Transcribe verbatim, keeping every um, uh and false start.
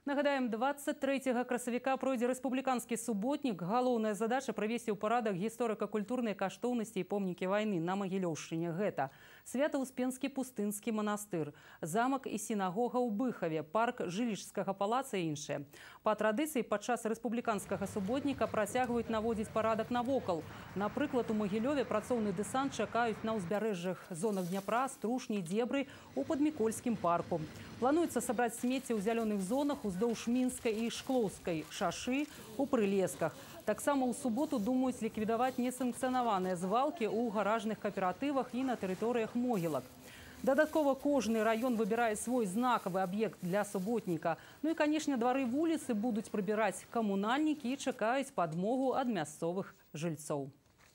Нагадаем, двадцать третьего красавіка пройдзе рэспубліканскі суботнік. Галоўная задача прывесці ў парадак гісторыка-культурныя каштоўнасці і помнікі вайны на Магілёўшчыне. Гэта Свято-Успенскі пустынскі манастыр, замак і сінагога ў Быхаве, парк Жылічскага палаца і іншыя. Па традыцыі падчас рэспубліканскага суботніка працягваюць наводзіць парадак навокал. Напрыклад, у Магілёве працоўны дэсант чакаюць на ўзбярэжжах зонах Дняпра, Струшні, Дзебры у Падмікольскім парку. Плануецца сабраць смецце ў зялёных зонах уздоўж Мінскай і Шклоўскай шашы у прылесках. Таксама ў суботу думаюць ліквідаваць несанкцыянаваныя звалкі ў гаражных кааператывах і на тэрыторыях могілак. Дадаткова кожны раён выбірае свой знакавы аб'ект для суботніка. Ну і, канешне, двары вуліцы будуць прыбіраць камунальнікі і чакаюць падмогу ад мясцовых жыльцоў.